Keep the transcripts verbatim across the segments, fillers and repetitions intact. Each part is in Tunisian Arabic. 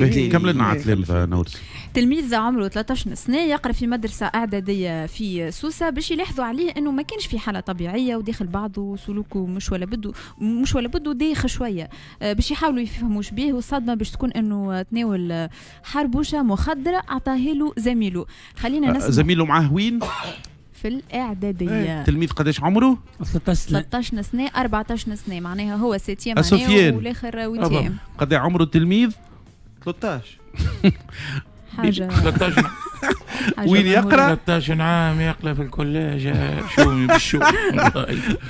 كمل لنا على التلامذه نورس. تلميذ عمره ثلاثة عشر سنة يقرا في مدرسه اعدادية في سوسه، باش يلاحظوا عليه انه ما كانش في حاله طبيعية وداخل بعضه، سلوكه مش ولا بده مش ولا بده، دايخ شويه، آه، باش يحاولوا يفهموا شبيه، والصدمه باش تكون انه تناول حربوشه مخدره اعطاها له زميله. خلينا نسمع. زميله معاه وين؟ في الاعداديه. تلميذ قداش عمره؟ ثلاثة عشر سنه. ثلاثة عشر سنه، أربعة عشر سنه، معناها هو septième année والاخر huitième. قد عمره التلميذ؟ ثلاثة عشر. حاجة ثلاثة عشر. وين يقرا؟ ثلاثة عشر عام يقرا في ال collège، شومي بالشوم.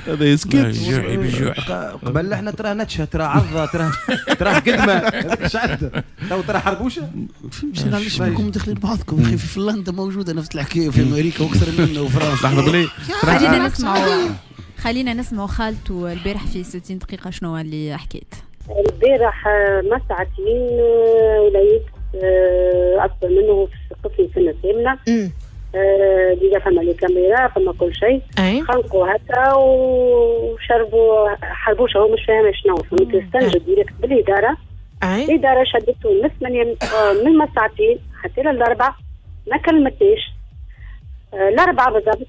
هذا يسكت. جوعي بالجوع. قبل احنا ترى نتشه، ترى عضه، ترى ترى قدمه، هذاك ايش عنده تو ترى حربوشه. فهمت علاش بكم داخلين بعضكم؟ اخي في فنلندا موجودة نفس الحكايه، في امريكا واكثر منا، وفرنسا. لحظة بلي. خلينا نسمعوا خلينا نسمعوا خالته البارح في ستين دقيقة شنو اللي حكيت. البارح ما ساعتين وليت آه، اكبر منه في قسم سنة ثامنه، آه، déjà فما les caméras، فما كل شيء. خنقوا هكا وشربوا حربوشه، هو مش فاهم شنو، فهمت؟ استنجد direct بالاداره. أي. الادارة شدته من ثمانية، آه، من ما ساعتين حتى للاربعه ما كلمتنيش. الاربعة بالضبط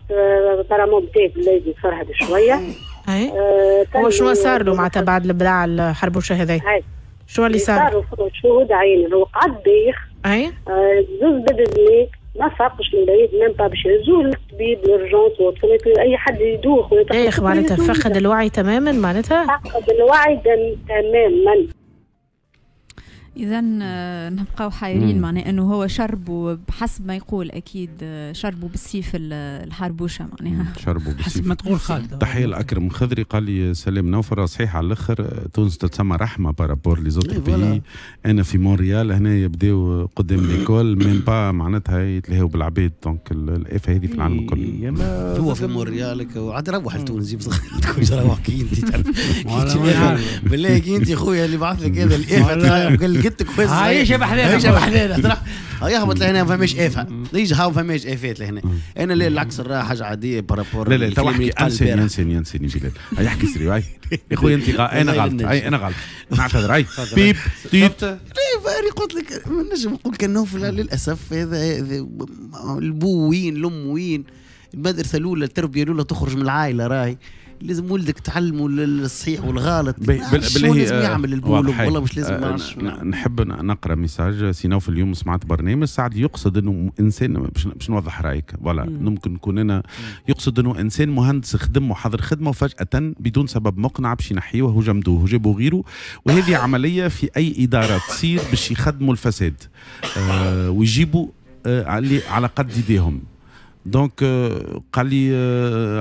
apparemment بدا بالليل يفرهد شويه. اي، هو شنو صار له معناتها بعد البلع الحربوشه هذا؟ شو اللي صار؟ صار شهود عين، هو قعد دايخ. اي آه زوز بدل ما فاقش من بعيد، même pas باش يهزوه للطبيب l'urgence. اي حد يدوخ. دايخ معناتها فقد الوعي تماما معناتها؟ فقد الوعي تماما. اذا آه، نبقاو حايرين، معناه انه هو شربوا بحسب ما يقول اكيد آه، شربوا بالسيف الحربوشه معناها. شربوا بالسيف. حسب ما تقول خالد. تحية لاكرم خضري، قال لي سلام نوفر، صحيح على الاخر، تونس تتسمى رحمه par rapport les autres pays. انا في مونريال هنا يبداو قدام l'école même pas معناتها يتلهوا بالعباد، donc الافة هذه في العالم الكل. هو في مونريال وعاد روح لتونس جيب صغير، تكون روح كي انت تعرف بالله كي انت خويا اللي بعث لك هذا الافة قال لك انت كويس. عايشه بحذانا. عايشه بحذانا، يهبط لهنا ما فماش افه، يجي هاو فماش افات لهنا. انا لا، العكس راه حاجة عادية par rapport لا لا، تو احكي، انساني انساني انساني بلال، يحكي sérieux. يا خويا انت انا غلط، اي انا غلط، نعتذر، اي بيب تيت. لا، قلت لك ما نجم نقول كان نوفل للاسف هذا البو وين، الام وين، المدرسة الاولى، التربية الاولى تخرج من العائله. راهي لازم ولدك تعلمه الصحيح والغلط. بالله لازم يعمل البو والله مش لازم. آه نحب نقرا message سي في اليوم سمعت برنامج سعد يقصد انه انسان، باش نوضح رايك voilà ممكن نكون انا يقصد انه انسان مهندس خدم وحضر خدمة وفجاة بدون سبب مقنع باش ينحيوه وجمدوه وجابوا غيره، وهذه عملية في اي ادارة تصير باش يخدموا الفساد آه ويجيبوا آه على قد يديهم. donc قال لي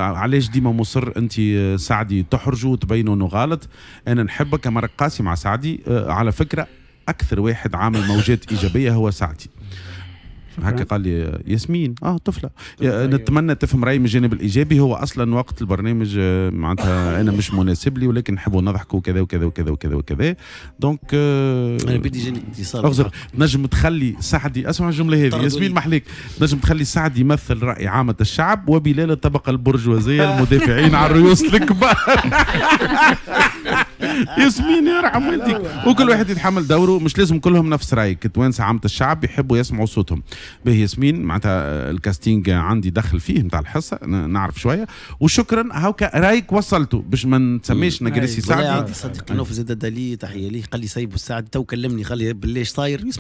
علاش ديما مصر انت سعدي تحرجوا وتبينوا انه غلط؟ انا نحبك اما قاسي مع سعدي. على فكرة اكثر واحد عامل موجات ايجابية هو سعدي، هكا قال لي ياسمين، اه طفله. نتمنى تفهم رايي من الجانب الايجابي. هو اصلا وقت البرنامج آه، معناتها انا مش مناسب لي، ولكن نحبوا نضحكوا كذا وكذا وكذا وكذا وكذا. donc آه، انا بدي يجيني اتصال. اغزر، تنجم تخلي سعدي، اسمع الجملة هذه ياسمين محليك، تنجم تخلي سعدي يمثل راي عامة الشعب وبلال الطبقة البرجوازيه المدافعين على الرؤوس الكبار. ياسمين يرحم والديك، وكل واحد يتحمل دوره، مش لازم كلهم نفس رايك. التوانسة عامة الشعب يحبوا يسمعوا صوتهم. به ياسمين، معناتها ال casting عندي دخل فيه نتاع الحصه، نعرف شويه، وشكرا، هاوكا رايك وصلته باش ما نسميش نجريسي سعدي. عندي صديقي نوفل زاد دالي، تحية ليه، قال لي سيبوا السعدي. تو كلمني قال لي بالله صاير.